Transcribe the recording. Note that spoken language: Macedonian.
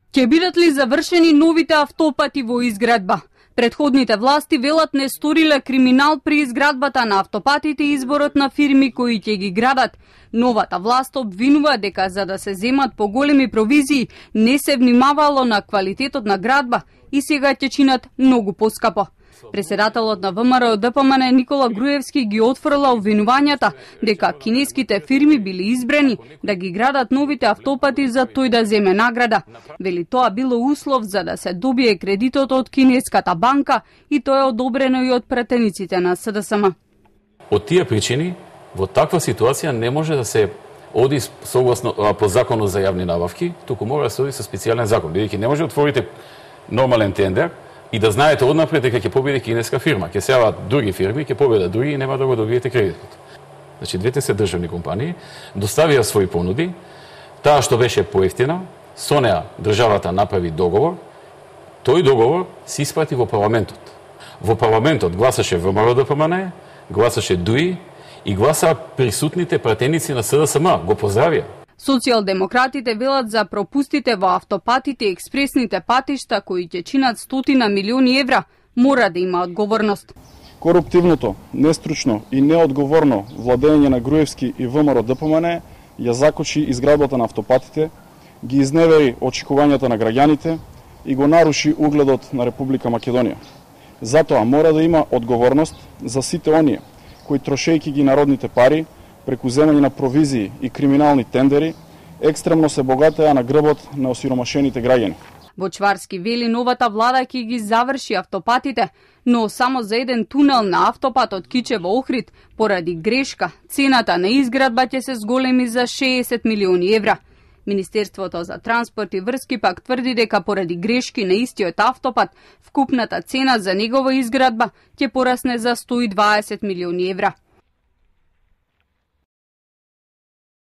Ќе бидат ли завршени новите автопати во изградба? Предходните власти велат не сториле криминал при изградбата на автопатите и изборот на фирми кои ќе ги градат. Новата власт обвинува дека за да се земат поголеми провизии не се внимавало на квалитетот на градба и сега ќе чинат многу поскапо. Преседателот на ВМРО ДПМН Никола Груевски ги отфрла обвинувањата дека кинеските фирми били избрани да ги градат новите автопати за тој да земе награда. Вели тоа било услов за да се добие кредитот од кинеската банка и тоа е одобрено и од пратениците на СДСМ. Од тие причини, во таква ситуација не може да се оди согласно по законот за јавни набавки, туку мора да се оди со специјален закон, бидејќи не може да отворите нормален тендер и да знаете однапред дека ќе победи кинеска фирма, ќе се јават други фирми, ќе победат други и нема да го добиете кредитот. Значи, двете се државни компании, доставија своји понуди, таа што беше поевтина, со неа државата направи договор, тој договор се испрати во парламентот. Во парламентот гласаше ВМРО ДПМН, гласаше ДУИ и гласа присутните пратеници на СДСМ, го поздравија. Социјалдемократите велат за пропустите во автопатите и експресните патишта кои ќе чинат стотина милиони евра, мора да има одговорност. Коруптивното, нестручно и неодговорно владење на Груевски и ВМРО ДПМН ја закочи изградбата на автопатите, ги изневери очекувањата на граѓаните и го наруши угледот на Република Македонија. Затоа мора да има одговорност за сите оние кои трошејќи ги народните пари преку земање на провизии и криминални тендери, екстремно се богатеа на грбот на осиромашените граѓани. Бочварски вели новата влада ќе ги заврши автопатите, но само за еден тунел на автопатот Кичево-Охрид, поради грешка, цената на изградба ќе се зголеми за 60 милиони евра. Министерството за транспорт и врски пак тврди дека поради грешки на истиот автопат, вкупната цена за негова изградба ќе порасне за 120 милиони евра.